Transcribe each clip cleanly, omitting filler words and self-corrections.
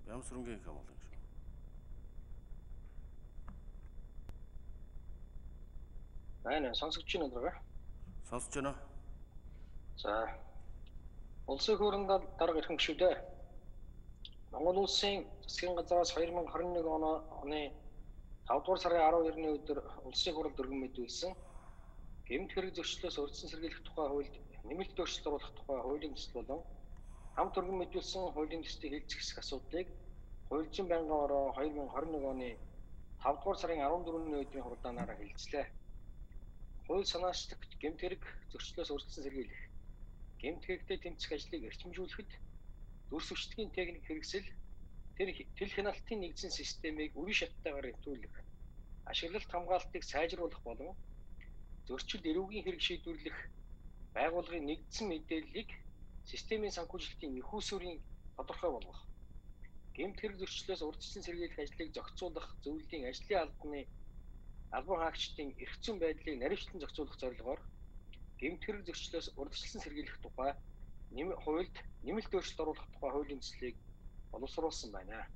Ямар сүрэнгийн инкам бол юм шүү. Байна, сонсогч байна уу? Сонсож байна. За. Улсын хурлын дарга ирэх шүү дээ. Монгол улсын засгийн газраас 2021 оны 5 дугаар сарын 12-ны өдөр улсын хурлд өргөн мэдүүлсэн гэмт хэрэг зөрчлөөс урьдчилан сэргийлэх тухай хуульд нэмэлт өөрчлөлт оруулах тухай хуулийн төсөл болон хамт өргөн мэдүүлсэн хуулийн төслийг хэлцэх хэсэг асуудлыг хууль зүйн байнгын ороо 2021 оны 5 дугаар сарын 14-ний өдрийн хурлаанаараа хэлцлээ. Хууль санаачлагч гэмт хэрэг зөрчлөөс урьдчилан сэргийлэх, гэмт хэрэгтэй тэмцэх ажлыг эрчимжүүлэхэд дүрсвчдгийн техник хэрэгсэл тэл хяналтын нэгдсэн системийг үе шаттайгаар нэвтрүүлэх, ашиглалт хамгаалтыг сайжруулах болон зөрчил эрүүгийн хэрэг шийдвэрлэх байгууллагын нэгдсэн мэдээллийг системийн санхүүжилтийн их усүрийн тодорхой болгох, гэмт хэрэг зөрчлөөс урьдчилан сэргийлэх ажлыг зохицуулах зөвлөлийн ажлын албан хаагчдын эрх зүйн байдлыг наривчлан зохицуулах зорилгоор гэмт хэрэг зөрчлөөс урьдчилан сэргийлэх тухай хуульд нэмэлт өөрчлөлт оруулах тухай хуулийн төслийг боловсруулсан байна.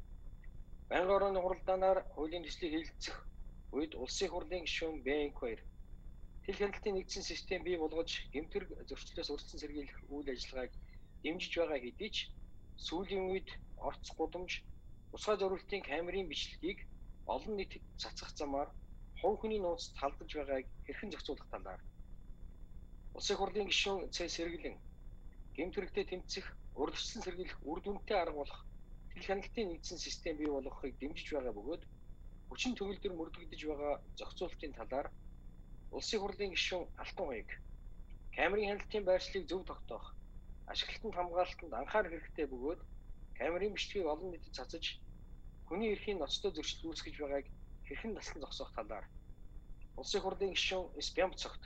Байнгын орооны хуралдаанаар хуулийн төслийг хэлэлцэх үед улсын хурлын гишүүн Б2 тэл хяналтын нэгдсэн систем бий болгож гэмт хэрэг зөрчлөөс урьдчилан сэргийлэх үйл ажиллагааг дэмжиж байгаа хэдий ч сүүлийн үед орц гудамж тусгай зориултын камерын бичлэгийг олон нийтэд цацгах замаар хувь хүний нууцд халдаж байгааг хэрхэн зохицуулах талаар улсын хурлын гишүүн Ц Сэргэлэн гэмт хэрэгтэй тэмцэх, урьдчилан сэргийлэх үр дүнтэй арга болох тэл хяналтын нэгдсэн систем бий болгохыг дэмжиж байгаа бөгөөд хүчин төгөлдөр мөрдөгдөж байгаа зохицуултын талаар улсын хурлын гишүүн Алтан хоёг камерын хяналтын байршлыг зөв тогтоох, ашиглалтанд хамгаалалтанд анхаарах хэрэгтэй бөгөөд камерын бичлэгийг олон нийтэд цацаж хүний эрхийн ноцтой зөрчил үүсгэж байгааг хэрхэн таслан зогсоох талаар улсын хурлын гишүүн С Бямцогт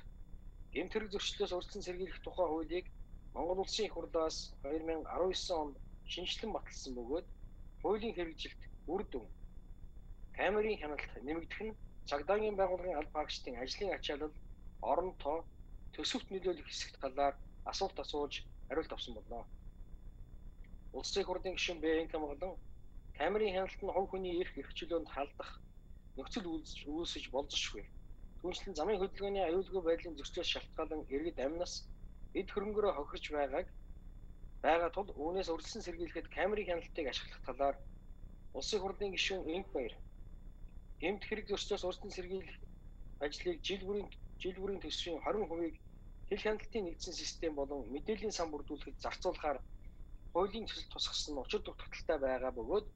гэмт хэрэг зөрчлөөс урьдчилан сэргийлэх тухай хуулийг Монгол улсын их хурлаас 2019 онд шинжилэн баталсан бөгөөд хуулийн хэрэгжилт үр дүн камерын хяналт нэмэгдэх нь цагдаагийн байгууллагын алба хаагчдын ажлын ачаалал, орон тоо, төсөвт нөлөөлөх хэсэгт талаар асуулт асууж хариулт авсан болно. Улсын их хурлын гишүүн Б1 болон камерын хяналт нь хувь хүний эрх чөлөөнд халдах нөхцөл үүсэж болзошгүй. Түүнчлэн замын хөдөлгөөний аюулгүй байдлын зөрчлөөс шалтгаалan иргэд амнаас эд хөрөнгөөрөө хохирч байгаа тул үүнээс урьдчилан сэргийлэхэд камерын хяналтыг ашиглах талаар улсын хурлын гишүүн Инх Баяр гэмт хэрэг зөрчлөөс урьдчилан сэргийлэх ажлыг жил бүрийн төсвийн 20%-ийг тэл хяналтын нэгдсэн систем болон мэдээллийн сан бүрдүүлэхэд зарцуулахаар хуулийн төсөл тусгасан нь учир дутагдaltaй байгаа бөгөөд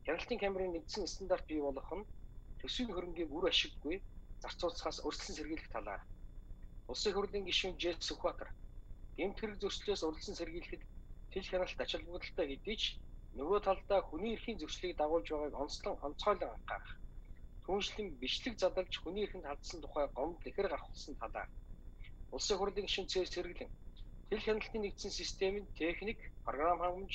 хяналтын камерын нэгдсэн стандарт бий болгох нь төсвийн хөрөнгийг үр ашиггүй зарцуулахаас урьдчилан сэргийлэх талаар улсын хурлын гишүүн Ж Сүхбаатар гэмт хэрэг зөрчлөөс урьдчилан сэргийлэхэд тэл хяналт ач холбогдолтой хэдий ч нөгөө талдаа хүний эрхийн зөрчлийг дагуулж байгааг онцгойлон анхаарах. Түүнчлэн бичлэг задалж хүний эрхэнд халдсан тухай гомдол ихэр гаргасан талаар улсын хурлын гишүүн Ц Сэргэлэн тэл хяналтын нэгдсэн системийн техник, програм хангамж,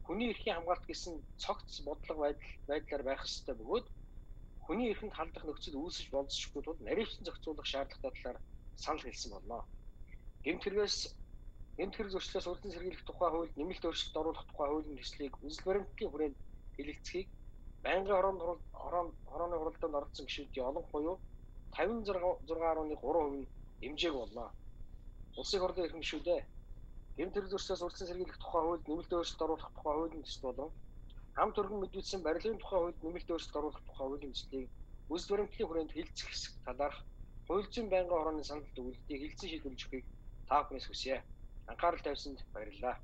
хүний эрхийн хамгаалалт гэсэн цогц бодлого байдлаар байх ёстой бөгөөд хүний эрхэнд халдах нөхцөл үүсэж болзошгүй тул наривчлан зохицуулах шаардлагатай талаар санал хэлсэн болно. Гэмт хэрэг зөрчлөөс урьдчилан сэргийлэх тухай хуульд нэмэлт өөрчлөлт оруулах тухай хуулийн төслийг үзэл баримтлалын хүрээнд хэлэлцэхийг байнгын орооны хуралдаанд оролцсон гишүүдийн олон буюу 56.3% нь дэмжээг болно. Улсын хурлын эрхэм гишүүдээ гэмт хэрэг зөрчлөөс урьдчилан сэргийлэх тухай хуульд нэмэлт өөрчлөлт оруулах тухай хуулийн төсөл болон хамт өргөн мэдүүлсэн барилгын тухай хуульд нэмэлт өөрчлөлт оруулах тухай хуулийн төслийг үзэл баримтлалын хүрээнд хэлэлцэх хэсэг талаарх хууль зүйн байнгын орооны санал дүгнэлтийг хэлэлцэн шийдвэрлэж өгөхийг та бүхнээс хүсье. Анхаарал тавьсанд баярлалаа.